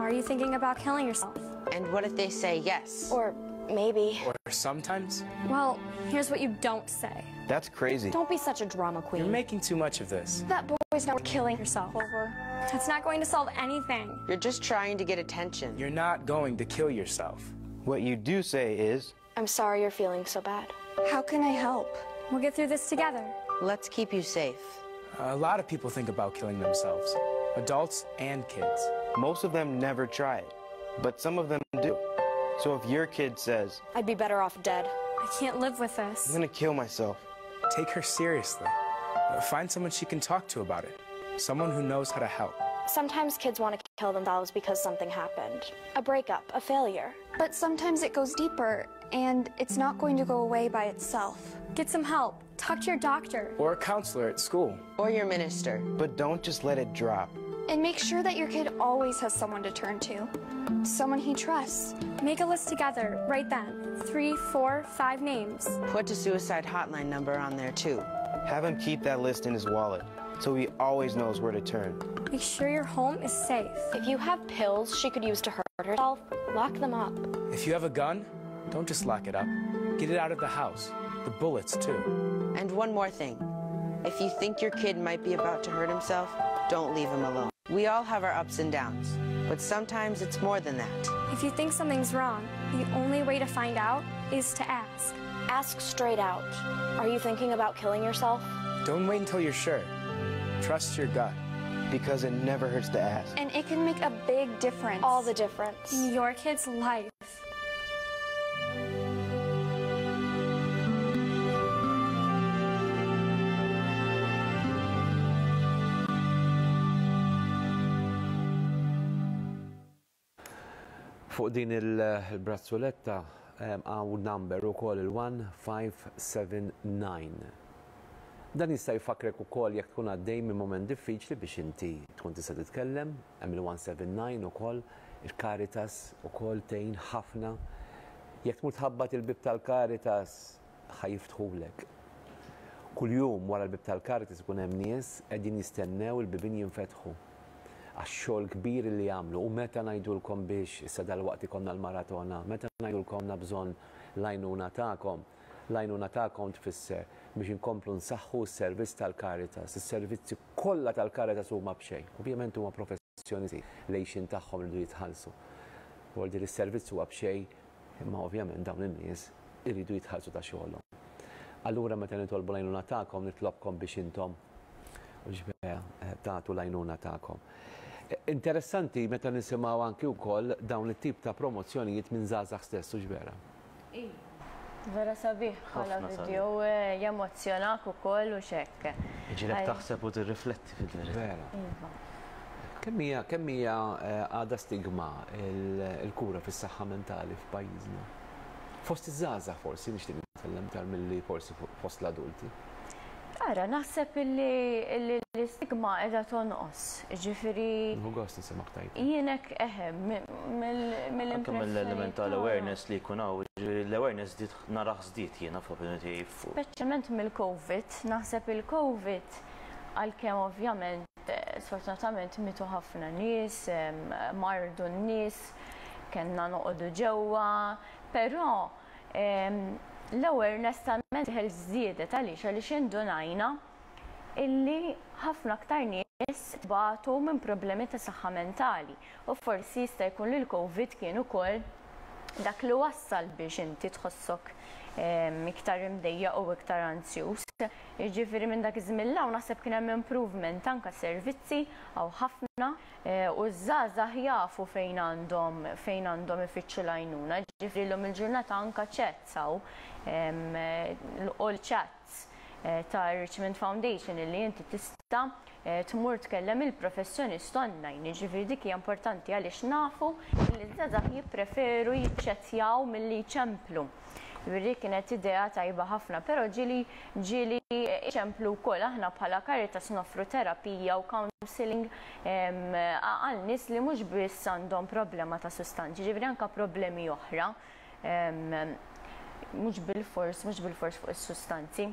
Are you thinking about killing yourself? And what if they say yes? Or maybe. Or sometimes Well, here's what you don't say. That's crazy. Don't be such a drama queen. you're making too much of this. That boy's not killing Yourself. over. That's not going to solve anything. You're just trying to get attention. You're not going to kill yourself. What you do say is, I'm sorry you're feeling so bad. How can I help? We'll get through this together. Let's keep you safe. A lot of people think about killing themselves, adults and kids. most of them never try it, but some of them do. So if your kid says, I'd be better off dead. I can't live with I'm this. gonna kill myself, Take her seriously. Find someone she can talk to about it, someone who knows how to help. Sometimes kids want to kill themselves because something happened. A breakup, a failure. But sometimes it goes deeper, and it's not going to go away by itself. Get some help. Talk to your doctor. Or a counselor at school. Or your minister. but don't just let it drop. And make sure that your kid always has someone to turn to, someone he trusts. Make a list together right then. 3, 4, 5 names. Put a suicide hotline number on there too. Have him keep that list in his wallet so he always knows where to turn. Make sure your home is safe. If you have pills she could use to hurt herself, lock them up. If you have a gun, don't just lock it up. Get it out of the house. The bullets, too. And one more thing. If you think your kid might be about to hurt himself, don't leave him alone. We all have our ups and downs, but sometimes it's more than that. If you think something's wrong, the only way to find out is to ask. Ask straight out. Are you thinking about killing yourself? Don't wait until you're sure. Trust your gut. Because it never hurts to ask. And it can make a big difference. All the difference. In your kid's life. Fuq din il-brazzoletta hawn number ukoll il-1579. Dan jista' jfakkrek ukoll jekk tkun għaddej minn mument diffiċli biex inti tkun tista' titkellem, hemm il-179 ukoll, il-Caritas ukoll tgħin ħafna. Jekk tmur tħabbat il-bieb tal-Caritas ħa jiftħulek. Kuljum wara l-bieb tal-Caritas ikun hemm nies qegħdin jistennew il-bibien jinfetħu għax-xogħol kbir li jagħmlu. U meta ngħidulkom biex issa dalwaqt ikollna l-maratona, meta ngħidulkom għandna bżonn l-għajnuna tagħkom, l-għajnuna tagħkom tfisser biex inkomplu nsaħħu s-servizz tal-Caritas. Is-servizzi kollha tal-Caritas huma b'xejn. Ovvjament huma professjonisti, l-għixien tagħhom iridu jitħallsu. Vuol dire s-servizz huwa b'xejn, imma ovvjament dawn in-nies iridu jitħallsu ta' xogħolhom. Allura meta nitolbu l-għajnuna tagħkom, nitlobkom biex intom u ġbea tagħtu l-għajnuna tagħkom. Interessanti meta nisimgħu anki wkoll dawn it-tip ta' promozzjonijiet minn żgħażagħ stess, u ġbera. Vera sabiħ bħala Ħafna sabiħ. video, jemozzjonak ukoll u xekk. Iġilek Għaj. taħseb u tirrifletti fil-verità. Vera. Iva. Kemm hija għadha stigma il-kura fis-saħħa mentali f'pajjiżna? Fost iż-żgħażagħ forsi nixtieq nitkellem iktar milli forsi fost l-adulti. Ara, naħseb illi l-istigma qiegħda tonqos, jiġifieri. Nieħu gost nisimgħek tgħid. Jien hekk eħe, mill-impressjoni. Anke mill-element tal-awareness li jkun hawn, jiġifieri l-awareness żdied narah żdied jiena fl-opinjoni tiegħi. Speċjalment mill-Covid, naħseb il-Covid għalkemm ovvjament sfortunatament mietu ħafna nies, mardu n-nies, kellna noqogħdu ġewwa, però L-awareness tal-mental health żdiedet għaliex għaliex indunajna illi ħafna aktar nies batu minn problemi ta' saħħa mentali u forsi jista' jkun li l-Covid kien ukoll dak li wassal biex inti tħossok iktar imdejjaq u iktar anzjuż. Jiġifieri minn dak iż-żmien 'l hawn naħseb kien hemm improvement anke servizzi hawn ħafna U ż-żgħażagħ jafu fejn għandhom fejn għandhom ifittxu l-għajnuna, jiġifieri llum il-ġurnata anke chats hawn, all chats ta' Richmond Foundation illi inti tista' tmur tkellem il-professjonist online, jiġifieri dik hija importanti għaliex nafu li ż-żgħażagħ jippreferu jiċċettjaw milli jċemplu. Jiġifieri kienet idea tajba ħafna, però ġieli ġieli iċemplu wkoll aħna bħala Caritas noffru terapija u counselling għal nies li mhux biss għandhom problema ta' sustanzi, jiġifieri anke problemi oħra mhux bilfors mhux bilfors fuq is-sustanzi.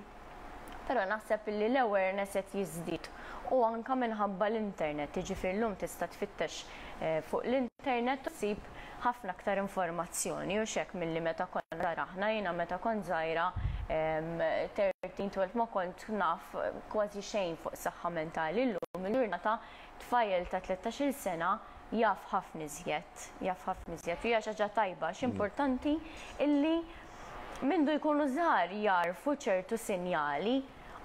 Però naħseb illi l-awareness qed jiżdied u anke minħabba l-internet, jiġifieri llum tista' tfittex fuq l-internet u ssib ħafna aktar informazzjoni hux hekk milli meta konna żgħar aħna. Jiena meta kont żgħira 13, 12 ma kont naf kważi xejn fuq saħħa mentali. Illum il-ġurnata tfajjel ta' 13-il sena jaf ħafna iżjed, jaf ħafna iżjed u hija xi ħaġa tajba għax importanti illi mindu jkunu żgħar jagħrfu ċertu sinjali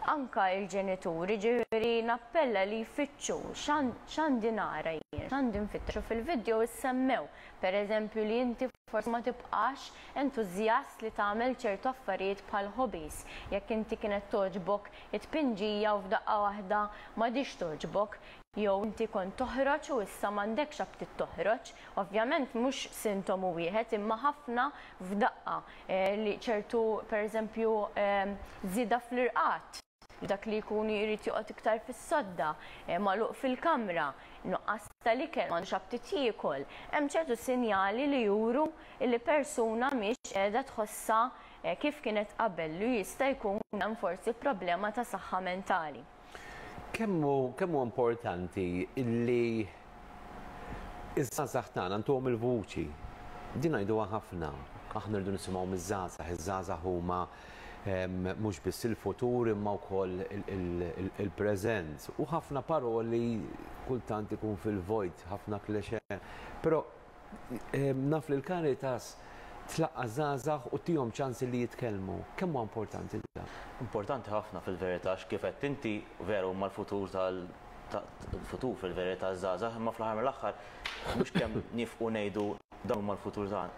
anke l-ġenituri, ġifieri nappella li jfittxu x'għandi nara jien, x'għandi nfittex u fil-video issemmew, pereżempju li inti forsi ma tibqax entużjast li tagħmel ċertu affarijiet bħal hobbies, jekk inti kienet togħġbok it-tpinġija u f'daqqa waħda m'għadhiex togħġbok, jew inti kont toħroġ u issa m'għandekx aptit toħroġ. Ovvjament mhux sintomu wieħed imma ħafna f'daqqa li ċertu pereżempju żieda fl-irqad, dak li jkun jrid joqgħod iktar fis-sodda, magħluq fil-kamra, nuqqas tal-ikel, m'għandux aptit jiekol. Hemm ċertu sinjali li juru li persuna mhix qiegħda tħossha kif kienet qabel li jista' jkun hemm forsi problema ta' saħħa mentali. Kemm hu kemm hu importanti li ż-żgħażagħ tagħna ntuhom il-vuċi. Din ngħiduha ħafna. Aħna rridu nisimgħu miż-żgħażagħ, iż-żgħażagħ huma mhux biss il-futur imma wkoll il-preżent. U ħafna paroli kultant ikun fil-vojt, ħafna cliché. Però Naf li l-Caritas tlaqqa' żgħażagħ u ttihom ċans li jitkellmu. Kemm huwa importanti dan? Importanti ħafna fil-verità għax kif għedt inti veru huma l-futur tal il-futur fil-verità ż-żgħażagħ imma fl-aħħar mill-aħħar mhux kemm nifqu ngħidu dawn huma l-futur tagħna.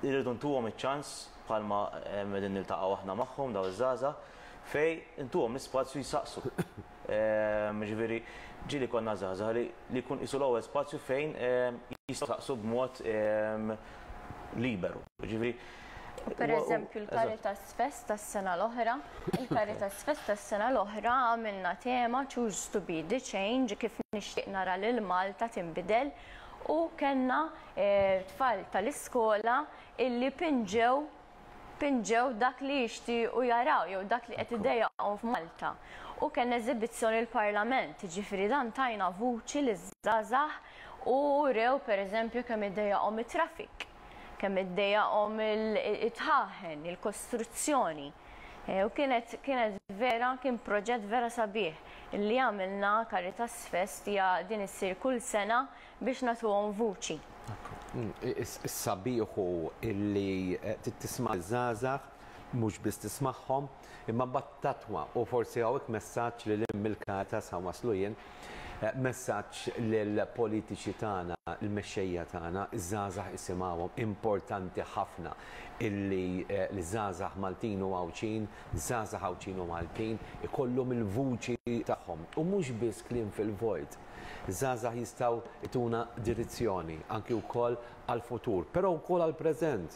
Irridu ntuhom iċ-ċans bħalma qegħdin niltaqgħu aħna magħhom dawn iż-żgħażagħ fejn intuhom l-ispazju jsaqsu. Jiġifieri ġieli konna żgħażagħ li li jkun qisu l-ewwel spazju fejn jistgħu jsaqsu b'mod liberu. Jiġifieri Per eżempju l-Caritas Fest tas-sena l-oħra, il-Caritas Fest tas-sena l-oħra għamilna tema Choose to be the change kif nixtieq nara lil Malta tinbidel u kellna tfal tal-iskola illi pinġew pinġew dak li jixtiequ jaraw jew dak li qed idejjaqhom f'Malta. U kellna eżibizzjoni l-Parlament, jiġifieri dan tajna vuċi liż-żgħażagħ u wrew pereżempju kemm iddejjaqhom it-traffic, kemm iddejjaqhom it-dħaħen, il-kostruzzjoni. U kienet kienet vera kien proġett vera sabiħ li għamilna Caritas Fest hija din issir kull sena biex nagħtuhom vuċi. Is-sabiħ hu li tisma' liż-żgħażagħ, mhux biss tismagħhom, imma mbagħad tattwa u forsi hawnhekk messaġġ lil hinn mill-Caritas ħa nwasslu jien, messaġġ lill-politiċi tagħna, il-mexxejja tagħna, iż-żgħażagħ isimgħuhom, importanti ħafna illi l-żgħażagħ Maltin u Għawdxin, żgħażagħ Għawdxin u Maltin ikollhom il-vuċi tagħhom u mhux biss kliem fil-vojt. Żgħażagħ jistgħu jtuna direzzjoni anki wkoll għall-futur, però wkoll għall-preżent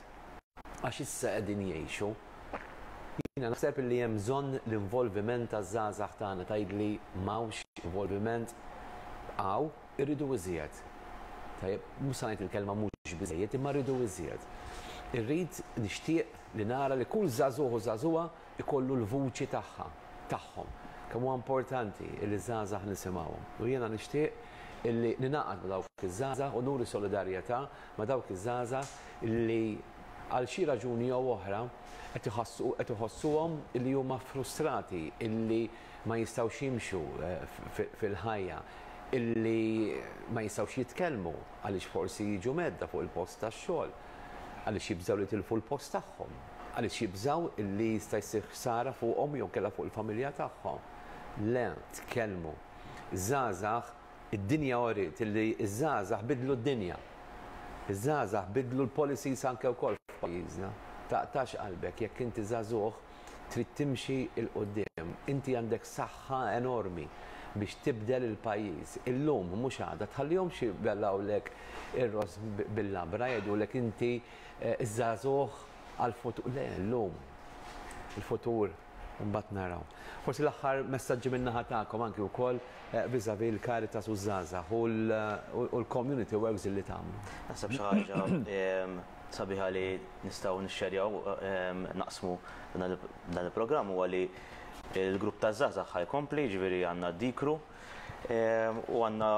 għax issa qegħdin jgħixu. Jiena naħseb li hemm bżonn l-involviment taż-żgħażagħ tagħna. Tgħidli m'hawnx involviment? Hawn, irridu iżjed. Tajjeb, mhux se ngħid il-kelma mhux biżżejjed, imma rridu iżjed. Irrid, nixtieq li nara li kull żagħżugħ u żagħżugħa jkollu l-vuċi tagħha, tagħhom. Kemm huwa importanti li ż-żgħażagħ nisimgħuhom. U jiena nixtieq illi ningħaqad ma' dawk iż-żgħażagħ u nuri solidarjetà ma' dawk iż-żgħażagħ li għal xi raġuni jew oħra qed iħassu qed iħossuhom illi huma frustrati, illi ma jistgħux jimxu fil-ħajja, illi ma jistgħux jitkellmu għaliex forsi jiġu mhedda fuq il-post tax-xogħol, għaliex jibżgħu li jitilfu l-post tagħhom, għaliex jibżgħu illi jista' jsir ħsara fuqhom jew inkella fuq il-familja tagħhom. Le, tkellmu. Żgħażagħ Id-dinja uriet illi ż-żgħażagħ biddlu d-dinja. Iż-żgħażagħ biddlu l-policies anke wkoll f'pajjiżna. Taqtax qalbek jekk inti żagħżugħ trid timxi 'l quddiem. Inti għandek saħħa enormi biex tibdel il-pajjiż. Illum mhux għada. Tħallihomx ibellgħulek ir-ross bil-labra jgħidulek inti ż-żagħżugħ għall-futur. Le, illum. Il-futur Imbagħad naraw. Forsi l-aħħar messaġġi min-naħa tagħkom anki wkoll vis-à-vis l-Caritas u ż-żgħażagħ u l-community works li tagħmlu. Naħseb xi ħaġa sabiħa li nistgħu nixxerjaw, naqsmu dan il-programm huwa li l-grupp taż-żgħażagħ ħa jkompli, jiġifieri għandna d-Dikru u għandna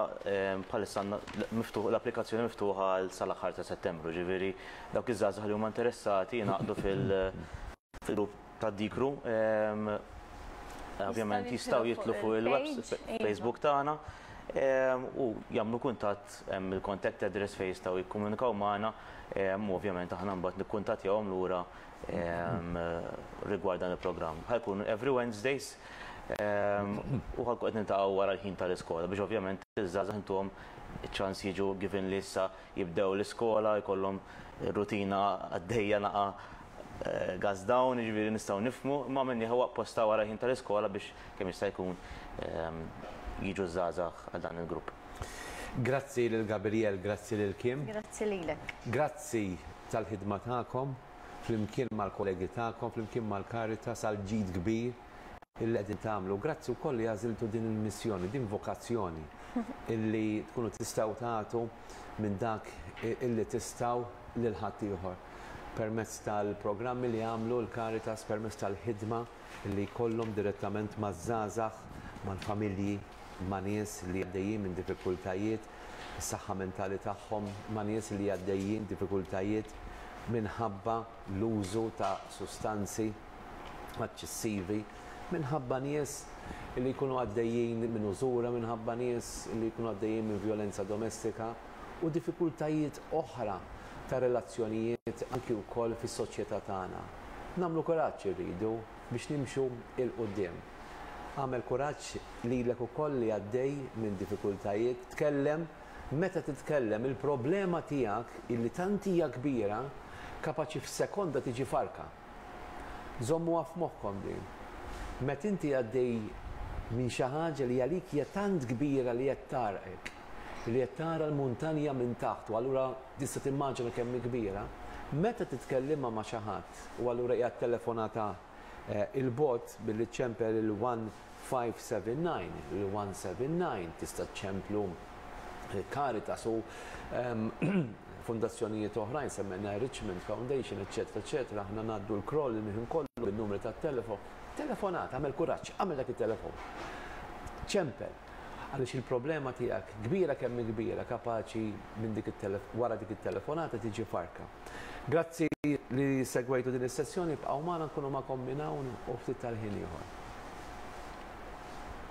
bħalissa għandna miftuħ l-applikazzjoni miftuħa għal sal-aħħar ta' Settembru, jiġifieri dawk iż-żgħażagħ li huma interessati jingħaqdu fil-grupp tad-Dikru. Ovvjament jistgħu jidħlu fuq il-web Facebook tagħna u jagħmlu kuntatt hemm il-contact address fejn jistgħu jikkomunikaw magħna u ovvjament aħna mbagħad nikkuntattjawhom lura rigward dan il-programm. Ħa jkun every Wednesdays u ħa nkun qed niltaqgħu wara l-ħin tal-iskola biex ovvjament iż-żgħażagħ intuhom iċ-ċans jiġu given li issa jibdew l-iskola jkollhom rutina għaddejja naqa' gas down, jiġifieri nistgħu nifhmu, imma għamilnieh huwa apposta wara l-ħin tal-iskola biex kemm jista' jkun jiġu ż-żgħażagħ għal dan il-grupp. Grazzi lil Gabriel, grazzi lil Kim. Grazzi lilek. Grazzi tal-ħidma tagħkom flimkien mal-kollegi tagħkom, flimkien mal-Caritas għall-ġid kbir illi qegħdin tagħmlu. Grazzi wkoll li għażiltu din il-missjoni, din vokazzjoni illi tkunu tistgħu tagħtu minn dak illi tistgħu lil ħaddieħor permezz tal-programmi li jagħmlu l-Caritas, permezz tal-ħidma li jkollhom direttament maż-żgħażagħ, mal-familji, ma' nies li għaddejjin minn diffikultajiet, is-saħħa mentali tagħhom, ma' nies li għaddejjin diffikultajiet minħabba l-użu ta' sustanzi eċċessivi, minħabba nies li jkunu għaddejjin minn użura, minħabba nies li jkunu għaddejjin minn vjolenza domestika u diffikultajiet oħra ta' relazzjonijiet anki wkoll fis-soċjetà tagħna. Nagħmlu kuraġġ irridu biex nimxu 'l quddiem. Agħmel kuraġġ lilek ukoll li għaddej minn diffikultajiet, tkellem, meta titkellem il-problema tiegħek illi tant hija kbira kapaċi f'sekonda tiġi farka. Żommuha f'moħħkom din. Meta inti għaddej minn xi ħaġa li għalik hija tant kbira li qed tgħarrqek, li qed tara l-muntanja minn taħt u allura tista' timmaġina kemm hi kbira, meta titkellimha ma' xi ħadd u allura hija telefonata 'il bogħod billi ċċempel il-1579, il-179 tista' ċċemplu Caritas u fundazzjonijiet oħrajn, semmejna Richmond Foundation, eċċetera, eċċetera, aħna ngħaddu l-kroll il-ħin kollu bin-numri tat-telefon. Telefonat, agħmel kuraġġ, agħmel dak it-telefon. Ċempel, għaliex il-problema tiegħek kbira kemm hi kbira kapaċi minn dik wara dik it-telefonata tiġi farka. Grazzi li segwejtu din is-sessjoni, ibqgħu magħna nkunu magħkom minn hawn u ftit tal-ħin ieħor.